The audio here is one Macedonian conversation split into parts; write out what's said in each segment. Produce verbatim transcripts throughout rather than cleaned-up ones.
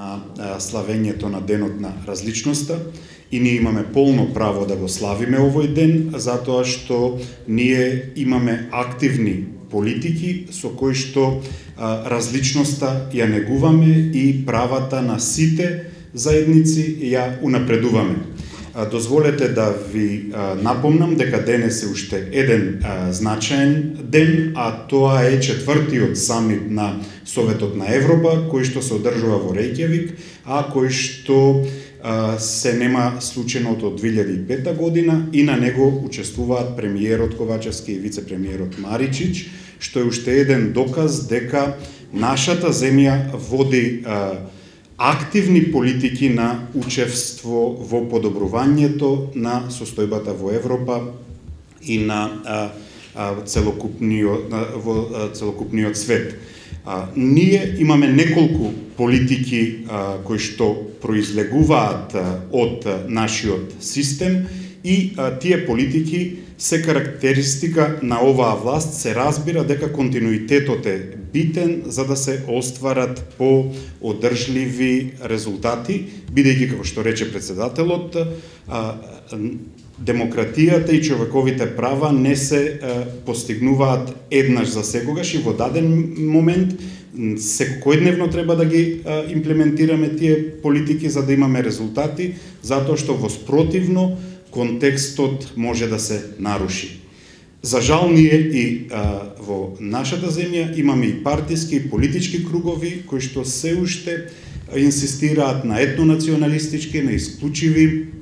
а, славењето на Денот на различноста и ние имаме полно право да го славиме овој ден, затоа што ние имаме активни политики со кои што а, различноста ја негуваме и правата на сите заедници ја унапредуваме. А, дозволете да ви а, напомнам дека денес е уште еден а, значаен ден, а тоа е четвртиот самит на Советот на Европа, кој што се одржува во Рејкјавик, а кој што а, се нема случено од две илјади и пета година и на него учествуваат премиерот Ковачевски и вице-премиерот Маричич, што е уште еден доказ дека нашата земја води а, активни политики на учество во подобрувањето на состојбата во Европа и на а, а, целокупниот, на, во а, целокупниот свет. А, ние имаме неколку политики а, кои што произлегуваат а, од а, нашиот систем и а, тие политики се карактеристика на оваа власт. Се разбира дека континуитетот е битен за да се остварат по-одржливи резултати, бидејќи, како што рече председателот, демократијата и човековите права не се постигнуваат еднаш за секогаш и во даден момент секојдневно треба да ги имплементираме тие политики за да имаме резултати, затоа што во спротивно контекстот може да се наруши. За жал, ние и а, во нашата земја имаме и партиски и политички кругови кои што се уште инсистираат на етнонационалистички, на исклучиви,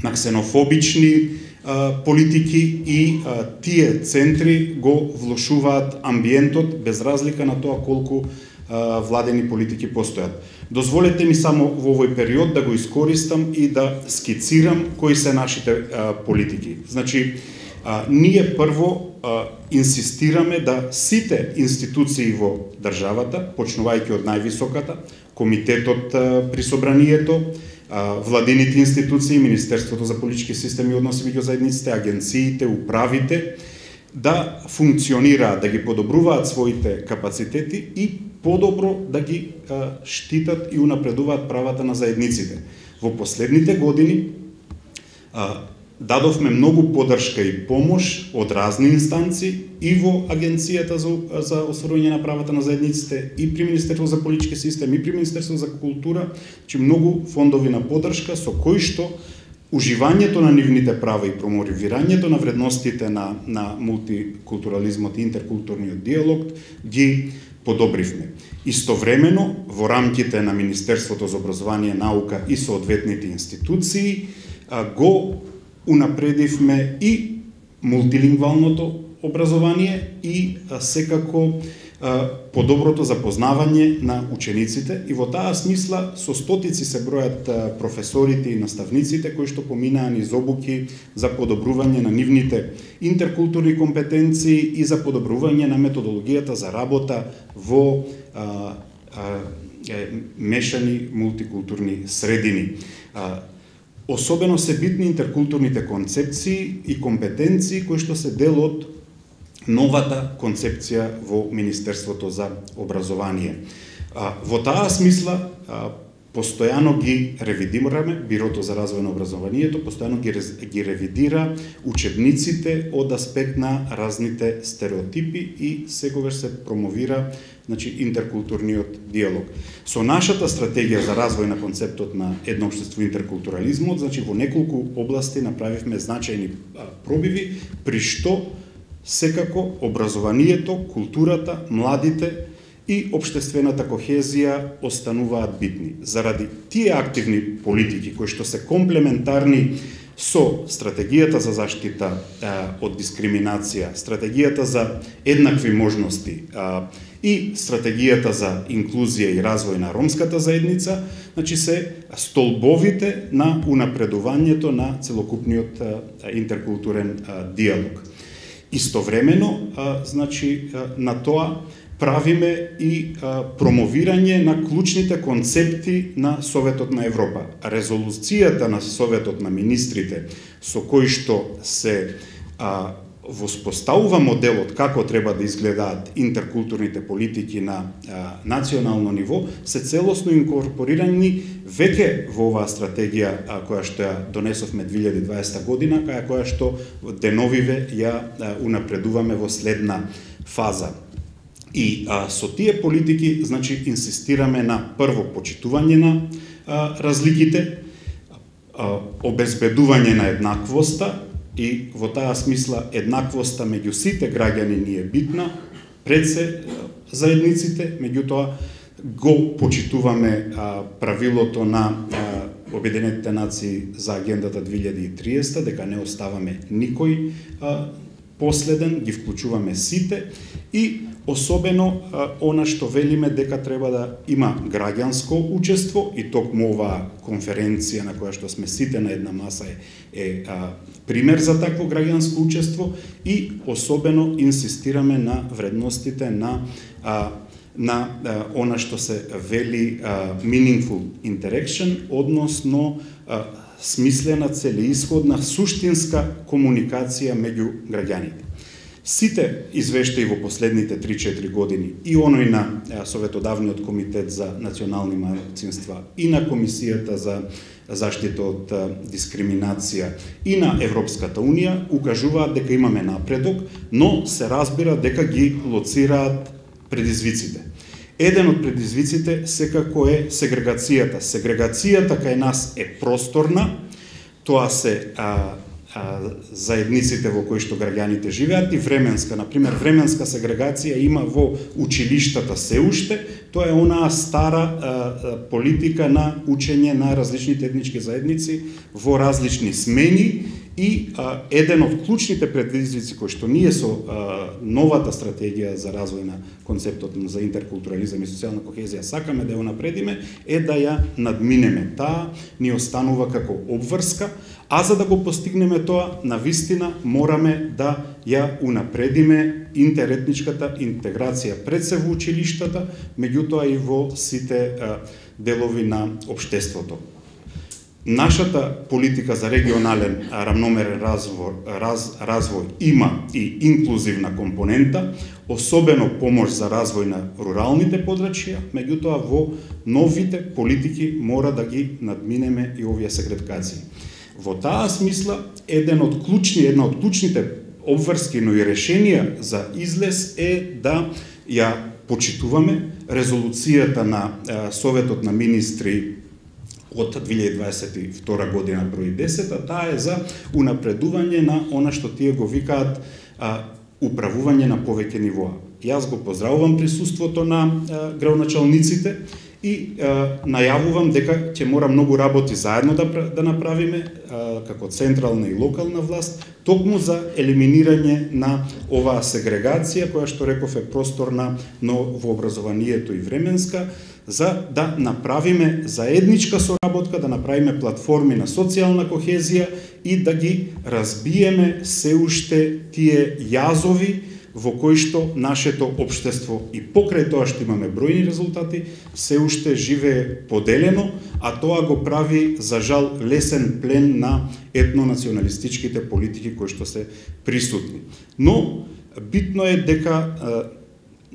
на ксенофобични а, политики и а, тие центри го влошуваат амбиентот без разлика на тоа колку а, владени политики постојат. Дозволете ми само во овој период да го искористам и да скицирам кои се нашите а, политики. Значи, а, ние прво а, инсистираме да сите институции во државата, почнувајќи од највисоката, комитетот а, при собранието, а, владините институции, Министерството за политички системи и односи меѓу заедниците, агенциите, управите, да функционираат, да ги подобруваат своите капацитети и подобро да ги а, штитат и унапредуваат правата на заедниците. Во последните години а, дадовме многу поддршка и помош од разни инстанции и во Агенцијата за, за остварување на правата на заедниците, и при Министерството за политички системи, и при Министерството за култура, че многу фондови на поддршка со кои што уживањето на нивните права и промовирањето на вредностите на, на мултикултурализмот и интеркултурниот диалог ги подобривме. Истовремено, во рамките на Министерството за образование, наука и соодветните институции, го унапредивме и мултилингвалното образование и секако подоброто запознавање на учениците, и во таа смисла со стотици се бројат професорите и наставниците кои што поминаа низ обуки за подобрување на нивните интеркултурни компетенции и за подобрување на методологијата за работа во а, а, мешани мултикултурни средини. А, особено се битни интеркултурните концепции и компетенции кои што се дел од новата концепција во Министерството за образование. Во таа смисла, постојано ги ревидираме, Бирото за развој на образованието постојано ги, ги ревидира учебниците од аспект на разните стереотипи и секогаш се промовира, значи, интеркултурниот диалог. Со нашата стратегија за развој на концептот на едно општество интеркултурализмот, значи во неколку области направивме значајни пробиви, при што секако образованието, културата, младите и општествената кохезија остануваат битни. Заради тие активни политики кои што се комплементарни со стратегијата за заштита а, од дискриминација, стратегијата за еднакви можности а, и стратегијата за инклузија и развој на ромската заедница, значи се столбовите на унапредувањето на целокупниот а, интеркултурен а, диалог. Истовремено, а, значи, а, на тоа правиме и а, промовирање на клучните концепти на Советот на Европа. Резолуцијата на Советот на министрите, со кој што се а, воспоставува моделот како треба да изгледаат интеркултурните политики на а, национално ниво, се целосно инкорпорирани веќе во оваа стратегија а, која што ја донесовме две илјади и дваесета година, каја која што деновиве ја а, унапредуваме во следна фаза. И а, со тие политики, значи, инсистираме на прво почитување на а, разликите, а, обезбедување на еднаквоста, и во таа смисла еднаквоста меѓу сите граѓани ни е битна, пред се заедниците, меѓутоа го почитуваме а, правилото на а, Обединетите нации за агендата две илјади и триесета, дека не оставаме никој а, последен, ги вклучуваме сите и особено а, она што велиме дека треба да има граѓанско учество, и токму оваа конференција на која што сме сите на една маса е, е а, пример за такво граѓанско учество, и особено инсистираме на вредностите на а, на а, она што се вели а, meaningful interaction, односно а, смислена, целеисходна, суштинска комуникација меѓу граѓаните. Сите извештаи во последните три-четири години, и оној на Советодавниот комитет за национални малцинства, и на Комисијата за заштита од дискриминација, и на Европската Унија, укажуваат дека имаме напредок, но се разбира дека ги лоцираат предизвиците. Еден од предизвиците секако е сегрегацијата. Сегрегацијата кај нас е просторна, тоа се а, а, заедниците во кои што граѓаните живеат, и временска. Например, временска сегрегација има во училиштата се уште, тоа е онаа стара а, а, политика на учење на различните етнички заедници во различни смени. И а, еден од клучните предизвици кои што ние со а, новата стратегија за развој на концептот за интеркултурализам и социјална кохезија сакаме да ја напредиме, е да ја надминеме. Таа ни останува како обврска, а за да го постигнеме тоа, навистина мораме да ја унапредиме интеретничката интеграција пред се во училиштата, меѓутоа и во сите а, делови на општеството. Нашата политика за регионален рамномерен развој, раз, развој има и инклузивна компонента, особено помош за развој на руралните подрачја, меѓутоа во новите политики мора да ги надминеме и овие сегрегации. Во таа смисла, еден од клучни, една од клучните обврски, но и решенија за излез е да ја почитуваме резолуцијата на Советот на министри од две илјади дваесет и втора година број десет, а таа е за унапредување на она што тие го викаат а, управување на повеќе нивоа. Јас го поздравувам присуството на а, градоначалниците и а, најавувам дека ќе мора многу работи заедно да, да направиме а, како централна и локална власт, токму за елиминирање на оваа сегрегација, која што реков е просторна, но во образованието и временска, за да направиме заедничка соработка, да направиме платформи на социјална кохезија и да ги разбиеме се уште тие јазови во кои што нашето општество, и покрај тоа што имаме бројни резултати, се уште живее поделено, а тоа го прави, за жал, лесен плен на етнонационалистичките политики кои што се присутни. Но битно е дека а,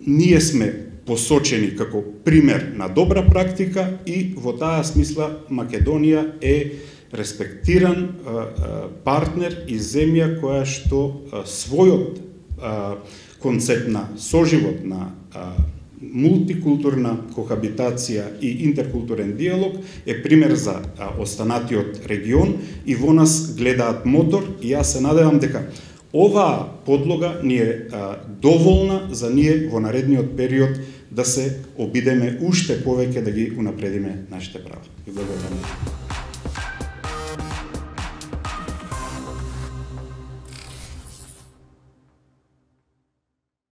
ние сме посочени како пример на добра практика, и во таа смисла Македонија е респектиран а, а, партнер и земја која што а, својот а, концепт на соживот, на а, мултикултурна кохабитација и интеркултурен диалог е пример за а, останатиот регион, и во нас гледаат мотор, и јас се надевам дека оваа подлога ни е а, доволна за ние во наредниот период да се обидеме уште повеќе да ги унапредиме нашите права. И благодарам.